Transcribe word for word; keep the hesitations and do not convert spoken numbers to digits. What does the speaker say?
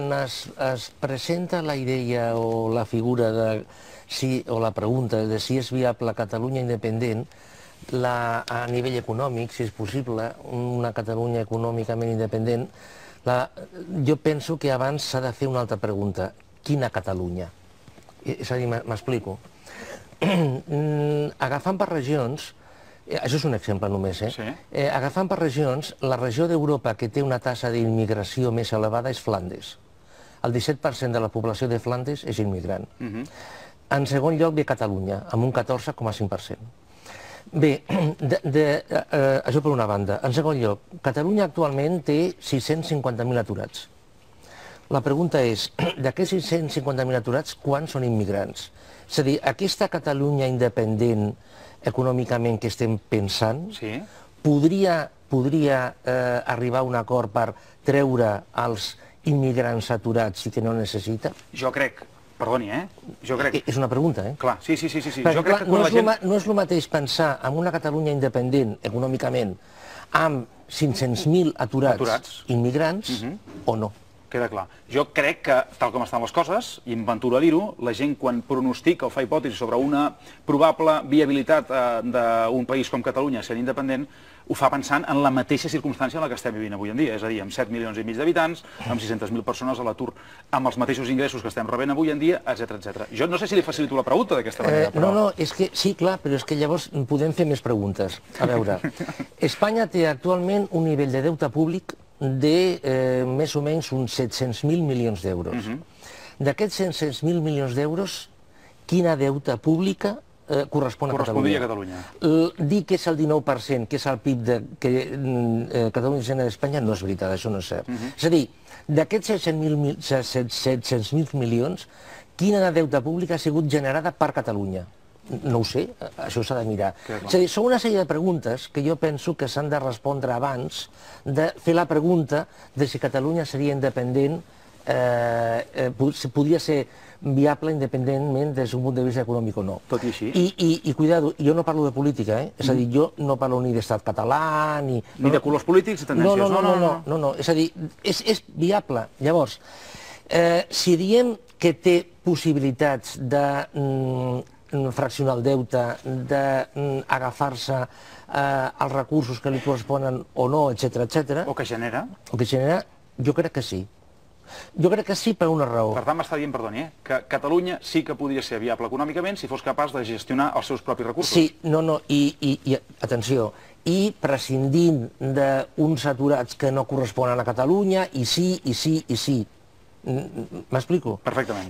quan es, es presenta la idea o la figura de si, o la pregunta de si és viable Catalunya independent, la, a nivell econòmic, si és possible, una Catalunya econòmicament independent, la, jo penso que abans s'ha de fer una altra pregunta. Quina Catalunya? És a dir, m'explico. Agafant per regions, això és un exemple només, eh? Sí. Eh, agafant per regions, la regió d'Europa que té una taxa d'immigració més elevada és Flandes. El disset per cent de la població de Flandes és immigrant. Uh-huh. En segon lloc ve Catalunya, amb un catorze coma cinc per cent. Bé, de, de, eh, això per una banda. En segon lloc, Catalunya actualment té sis-cents cinquanta mil aturats. La pregunta és, d'aquests sis-cents cinquanta mil aturats, quants són immigrants? És a dir, aquesta Catalunya independent econòmicament que estem pensant, Sí. podria, podria eh, arribar a un acord per treure els immigrants aturats i que no necessita? Jo crec, perdoni, eh? Jo crec... És una pregunta, eh? Clar, sí, sí, sí, sí. Perquè, Jo crec clar, que no, quan és la gent... ma, no és el mateix pensar en una Catalunya independent econòmicament amb cinc-cents mil aturats, Aturats. immigrants Mhm. o no. Queda clar. Jo crec que, tal com estan les coses, i em venturo a dir-ho, la gent quan pronostica o fa hipòtesi sobre una probable viabilitat eh, d'un país com Catalunya sent independent, ho fa pensant en la mateixa circumstància en la que estem vivint avui en dia, és a dir, amb set milions i mig d'habitants, amb sis-centes mil persones a l'atur, amb els mateixos ingressos que estem rebent avui en dia, etcètera, etcètera. Jo no sé si li facilito la pregunta d'aquesta manera, Eh, però... no, no, és que sí, clar, però és que llavors podem fer més preguntes. A veure, Espanya té actualment un nivell de deute públic de eh, més o menys uns set-cents mil milions d'euros. Mhm. D'aquests set-cents mil milions d'euros, quina deuta pública eh, correspon a Correspondria Catalunya? a Catalunya. L- Dir que és el dinou per cent, que és el P I B de, que eh, Catalunya genera d'Espanya, no és veritat, això no és cert. Mhm. És a dir, d'aquests set-cents mil milions, quina deuta pública ha sigut generada per Catalunya? No ho sé, això s'ha de mirar. Queda clar. És a dir, són una sèrie de preguntes que jo penso que s'han de respondre abans de fer la pregunta de si Catalunya seria independent, eh, eh, pod- si podria ser viable independentment des d'un punt de vista econòmic o no. Tot i així. I, i, i cuidado, jo no parlo de política, eh? És a dir, jo no parlo ni d'estat català, ni... Ni de colors polítics i No, tendències. no, no, no, no, no, no. És a dir, és, és viable. Llavors, eh, si diem que té possibilitats de mm, fraccionar el deute, d'agafar-se eh, els recursos que li corresponen o no, etcètera, etcètera, O que genera. el que genera, jo crec que sí. Jo crec que sí per una raó. Per tant, m'està dient, perdoni, eh, que Catalunya sí que podria ser viable econòmicament si fos capaç de gestionar els seus propis recursos. Sí, no, no, i, i, i atenció, i prescindint d'uns aturats que no corresponen a Catalunya, i sí, i sí, i sí. M'explico? Perfectament.